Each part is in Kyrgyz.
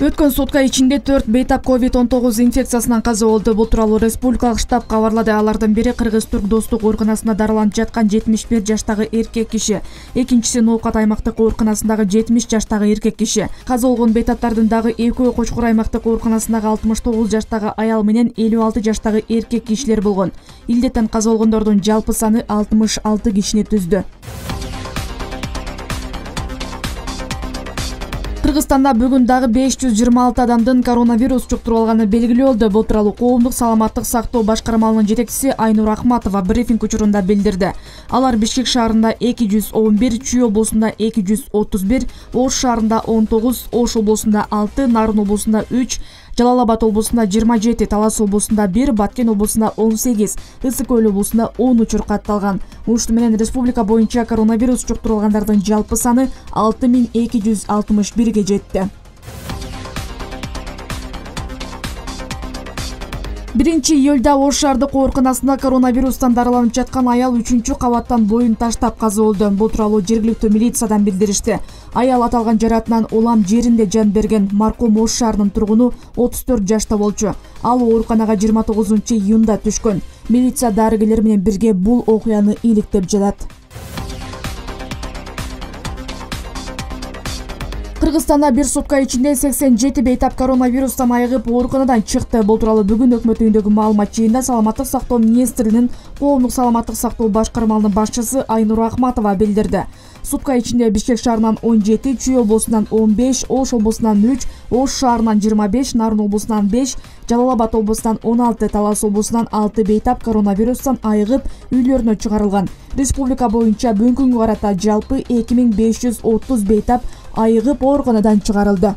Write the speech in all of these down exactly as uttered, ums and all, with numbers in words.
Өткөн сутка ичинде төрт бейтап ковид он тогуз инфекциясынан каза болду. Бул тууралуу республикалык штаб кабарлады. Алардын бири Кыргыз-Түрк достук ооруканасында дарыланып жаткан жетимиш бир жаштагы эркек киши. Экинчиси Ноокат аймактык ооруканасындагы жетимиш жаштагы эркек киши. Каза болгон бейтаптардын дагы экөө Кочкор аймактык ооруканасындагы алтымыш тогуз жаштагы аял менен элүү алты жаштагы эркек кишилер болгон. Илдеттен каза болгондордун жалпы саны алтымыш алты кишини түздү. Кыргызстанда бүгүн дагы беш жүз жыйырма алты адамдын коронавирус жуктуруп алганы белгилүү болду. Бул тууралуу коомдук саламаттык сактоо башкармалынын жетекчиси Айнур Ахматова брифинг учурунда билдирди. Алар Бишкек шаарында эки жүз он бир, Чүй облусунда эки жүз отуз бир, Ош шаарында он тогуз, Ош облусунда алты, Нарын облусунда үч, Жалал Абад облусунда жыйырма жети, Талас облусунда бир, Баткен облусунда он сегиз, Ысык Көл облусунда он учур катталган. Ушуну менен республика боюнча коронавирус жуктурулгандардын жалпы саны алты миң эки жүз алтымыш бирге жетти. биринчи июлда Ош шаардык ооруканасында коронавирустан дарыланып жаткан аял үчүнчү кабаттан боюн таштап каза болду. Бул тууралуу жергиликтүү милициядан билдиришти. Аял аталган жаратынан улам жеринде жан берген. Маркум Ош шаарынын тургуну отуз төрт жашта болчу. Ал ооруканага жыйырма тогузунчу июнда түшкөн. Милиция дарыгерлер менен бирге бул окуяны иликтеп жатат. Кыргызстанда бир сутка ичинде сексен жети бейтап коронавирустан айыгып ооруканадан чыкты. Бул тууралуу бүгүн өкмөт үйүндөгү маалымат жыйынында Саламаттык сактоо министринин коомдук саламаттык сактоо башкармалынын башчысы Айнур Ахматова билдирди. Сутка ичинде Бишкек шаарынан он жети, Чүй облусунан он беш, Ош облусунан үч, Ош шаарынан жыйырма беш, Нарын облусунан беш, Жалал Абад облусунан он алты, Талас облусунан алты бейтап коронавирустан айыгып үйлөрүнө чыгарылган. Республика боюнча бүгүнкү күнгө карата жалпы эки миң беш жүз отуз бейтап айыгып ооруканадан чыгарылды.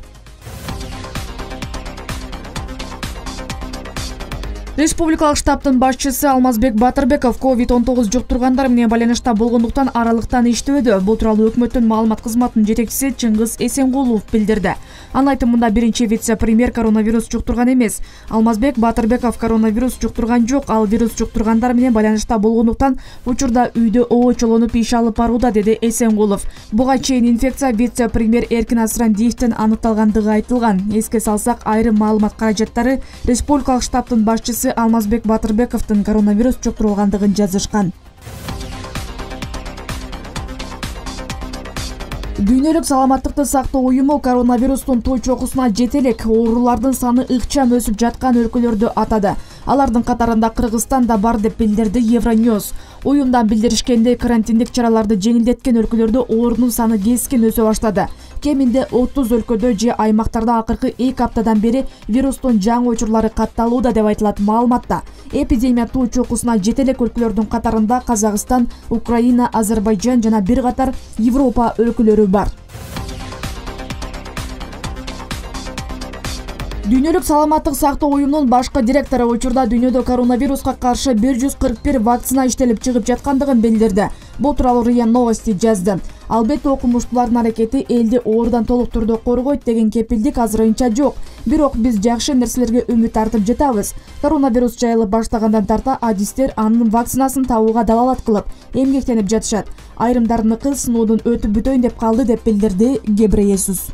Республикалык штабтын башчысы Алмазбек Батырбеков ковид он тогуз жуктургандар менен байланышта болгондуктан аралыктан иштөөдө. Бул тууралуу өкмөттүн маалымат кызматынын жетекчиси Чыңгыз Эсенгулов билдирди. Анын айтымында биринчи вице-премьер коронавирус жуктурган эмес. Алмазбек Батырбеков коронавирус жуктурган жок, ал вирус жуктургандар менен байланышта болгондуктан учурда үйдө обочолонуп иш алып барууда, деди Эсенгулов. Буга чейин инфекция вице-премьер Эркин Асырандиевден аныкталгандыгы айтылган. Эске салсак, айрым маалымат каражаттары республикалык штабтын башчысы Алмазбек Батырбековдун коронавирус жуктурулгандыгын жазышкан. Дүйнөлүк саламаттыкты сактоо уюму коронавирустун той чокусуна жете элек оорулардын саны ыкчам өсүп жаткан өлкөлөрдү атады. Алардын катарында Кыргызстан да бар деп билдирди Евроньюз. Уюмдан билдиришкендей, карантиндик чараларды жеңилдеткен өлкөлөрдө оорунун саны кескин өсө баштады. Кеминде отуз өлкөдө же аймактарда акыркы эки аптадан бери вирустун жаңы учурлары катталууда деп айтылат маалыматта. Эпидемия той чокусуна жете элек өлкөлөрдүн катарында Казакстан, Украина, Азербайжан жана бир катар Европа өлкөлөрү бар. Дүйнөлүк саламаттык сактоо уюмунун башкы директору учурда дүйнөдө коронавируска каршы бир жүз кырк бир вакцина иштелип чыгып жаткандыгын билдирди. Бул тууралуу РИА Новости жазды. Албетте окумуштуулардын аракети элди оорудан толук түрдө коргойт деген кепилдик азырынча жок. Бирок биз жакшы нерселерге үмүт артып жатабыз. Коронавирус жайылып баштагандан тарта адистер анын вакцинасын табууга далалат кылып, эмгектенип жатышат. Айрымдарыныкы сыноодон өтүп бүтөйүн деп калды, деп билдирди Гебрейесус.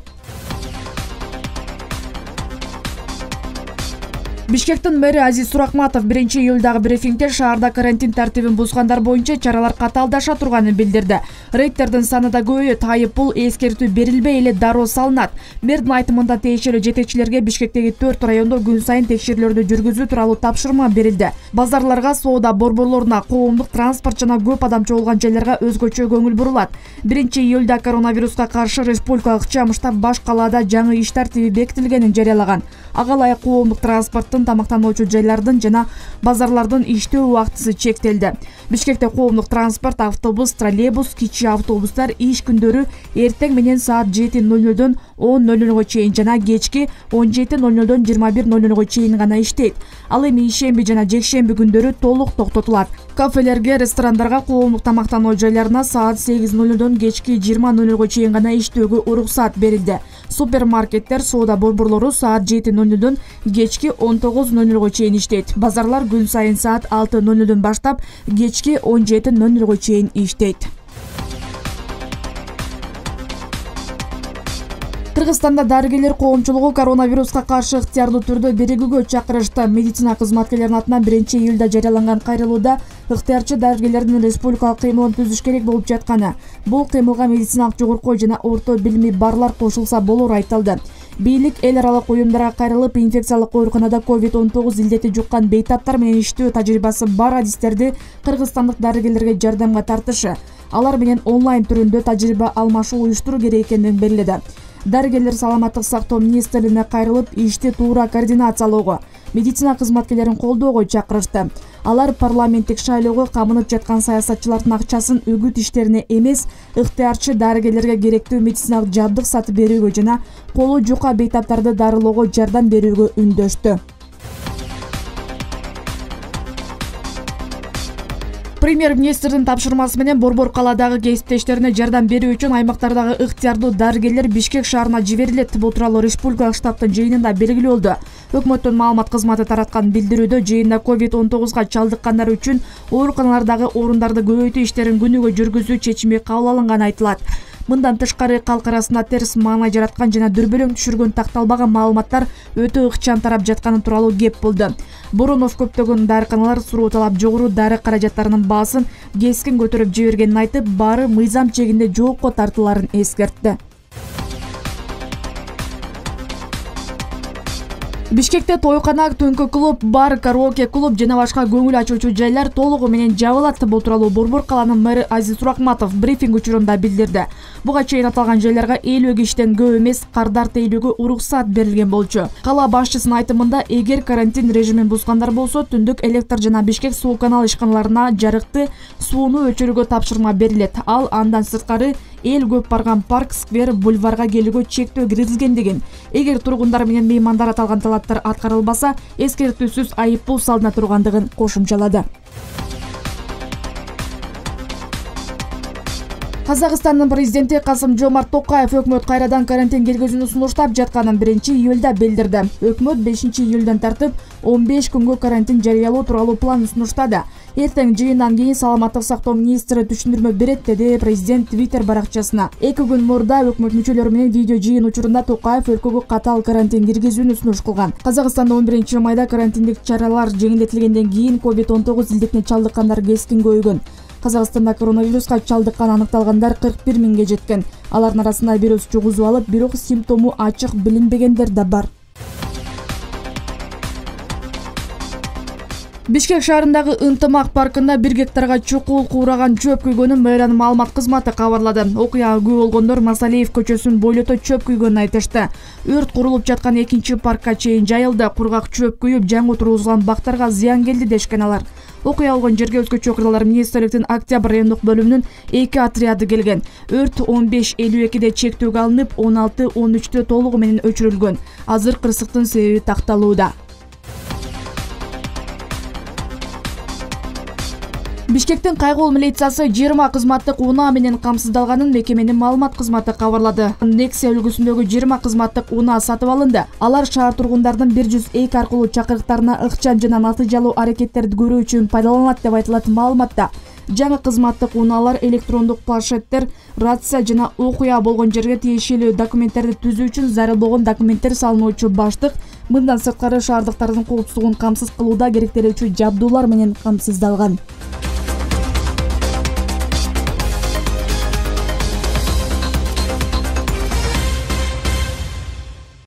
Бишкектин мэри Азиз Суракматов биринчи июлдагы брифингде шаарда карантин тартибин бузгандар боюнча чаралар катаалдаша турганын билдирди. Рейдтердин саны да көбөйөт, айыппул эскертүү берилбей эле дароо салынат. Мэрдин айтымында тиешелүү жетекчилерге Бишкектеги төрт райондо күн сайын текшерүүлөрдү жүргүзүү тууралуу тапшырма берилди. Базарларга, соода борборлоруна, коомдук транспорт жана көп адам чогулган жайларга өзгөчө көңүл бурулат. биринчи июлда коронавируска каршы республикалык чам штаб баш калаада жаңы иш тартиби бекитилгенин жарыялаган. Ага ылайык коомдук транспорттун, тамактануучу жайлардын жана базарлардын иштөө убактысы чектелди. Бишкекте коомдук транспорт, автобус, троллейбус, кичи автобустар иш күндөрү эртең менен саат жети ноль нольдон он ноль нольго чейин жана кечки он жети ноль нольдон жыйырма бир ноль нольго чейин гана иштейт. Ал эми ишемби жана жекшемби күндөрү толук токтотулат. Кафелерге, ресторандарга, коомдук тамактануу жайларына саат сегиз ноль нольдон кечки жыйырма ноль нольго чейин гана иштөөгө уруксат берилди. Супермаркеттер, соода борборлору саат жети ноль нольдон кечки он тогуз ноль нольго чейин иштейт. Базарлар күн сайын саат алты ноль нольдон баштап кечки он жети ноль нольго чейин иштейт. Кыргызстанда дарыгерлер коомчулугу коронавируска каршы ыктыярдуу түрдө биригүүгө чакырышты. Медицина кызматкерлеринин атынан биринчи июлда жарыяланган кайрылууда ыктыярчы дарыгерлердин республикалык кыймылын түзүш керек болуп жатканы, бул кыймылга медициналык жогорку жана орто билими барлар кошулса болору айтылды. Бийлик эл аралык уюмдарга кайрылып, инфекциялык ооруканада ковид он тогуз илдети жуккан бейтаптар менен иштөө тажрыйбасы бар адистерди кыргызстандык дарыгерлерге жардамга тартышы, алар менен онлайн түрүндө тажрыйба алмашуу уюштуруу керек экендигин белгиледи. Дарыгерлер саламаттык сактоо министрлигине кайрылып, ишти туура координациялоого, медицина кызматкерлерин колдоого чакырышты. Алар парламенттик шайлоого камынып жаткан саясатчылардын акчасын үгүт иштерине эмес, ыктыярчы дарыгерлерге керектүү медициналык жабдык сатып берүүгө жана колу жука бейтаптарды дарылоого жардам берүүгө үндөштү. Премьер-министрдин тапшырмасы менен Борбор калаадагы кесиптештерине жардам берүү үчүн аймактардагы ыктыярдуу дарыгерлер Бишкек шаарына жиберилет. Бул тууралуу республикалык штабтын жыйынында белгилүү болду. Өкмөттүн маалымат кызматы тараткан билдирүүдө жыйында ковид он тогузга чалдыккандар үчүн ооруканалардагы орундарды көбөйтүү иштерин күнүгө жүргүзүү чечими кабыл алынганы айтылат. Мындан тышкары калк арасында терс маана жараткан жана дүрбөлөң түшүргөн такталбаган маалыматтар өтө ыкчам тарап жатканы тууралуу кеп болду. Боронов көптөгөн дарыканалар суроо талап жогору дары каражаттарынын баасын кескин көтөрүп жибергенин айтып, баары мыйзам чегинде жоопко тартыларын эскертти. Бишкекте тойкана, түнкү клуб, бар, караоке клуб жана башка көңүл ачуучу жайлар толугу менен жабылат. Бул тууралуу Борбор калаанын мэрі Азиз Суракматов брифинг учурунда билдирди. Буга чейин аталган жайларга элүү кишиден көп эмес кардар тейлүүгө уруксат берилген болчу. Кала башчысынын айтымында, эгер карантин режимин бузгандар болсо, түндүк электр жана Бишкек суу канал ишканаларына жарыкты, сууну өчүрүүгө тапшырма берилет. Ал андан сырткары эл көп барган парк, сквер, бульварга келүүгө чектөө киргизилгендигин, эгер тургундар менен меймандар аталган талаптар аткарылбаса, эскертүүсүз айып пул салына тургандыгын кошумчалады. Казакстандын президенти Касым-Жомарт Токаев өкмөт кайрадан карантин киргизүүнү сунуштап жатканын биринчи июлда билдирди. Өкмөт бешинчи июлдан тартып он беш күнгө карантин жарыялоо тууралуу план сунуштады. Эртең жыйындан кийин саламаттык сактоо министри түшүндүрмө берет, деди президент Твиттер баракчасына. Эки күн мурда өкмөт мүчөлөрү менен видео жыйын учурунда Токаев өлкөгө катаал карантин киргизүүнү сунуш кылган. Казакстанда он биринчи майда карантиндик чаралар жеңилдетилгенден кийин ковид он тогуз илдетине чалдыккандар кескин көбөйгөн. Казакстанда коронавируска чалдыккан аныкталгандар кырк бир миңге жеткен. Алардын арасында вирус жугузуп алып, бирок симптому ачык билинбегендер да бар. Бишкек шаарындагы Ынтымак паркында бир гектарга чукул куураган чөп күйгөнүн мэриянын маалымат кызматы кабарлады. Окуяга күбө болгондор Масалиев көчөсүн бойлото чөп күйгөнүн айтышты. Өрт курулуп жаткан экинчи паркка чейин жайылды. Кургак чөп күйүп, жаңы тургузулган бактарга зыян келди дешкен алар. Окуя болгон жерге өзгөчө окуялар министрликтин Октябрь райондук бөлүмүнүн эки отряды келген. Өрт он беш элүү экиде чектөөгө алынып, он алты он үчтө толугу менен өчүрүлгөн. Азыр кырсыктын себеби такталууда. Бишкектин Кайгол милициясы жыйырма кызматтык унаа менен камсыздалганын мекеменин маалымат кызматы кабарлады. Nexia үлгүсүндөгү жыйырма кызматтык унаа сатып алынды. Алар шаар тургундардын бир жүз эки аркылуу чакырыктарына ыкчам жана натыйжалуу аракеттерди көрүү үчүн пайдаланылат деп айтылат маалыматта. Жаңы кызматтык унаалар электрондук планшеттер, рация жана окуя болгон жерге тиешелүү документтерди түзүү үчүн зарыл болгон документтер салынуучу баштык, мындан сырткары шаардыктардын коопсуздугун камсыз кылууда керектелүүчү жабдуулар менен камсыздалган.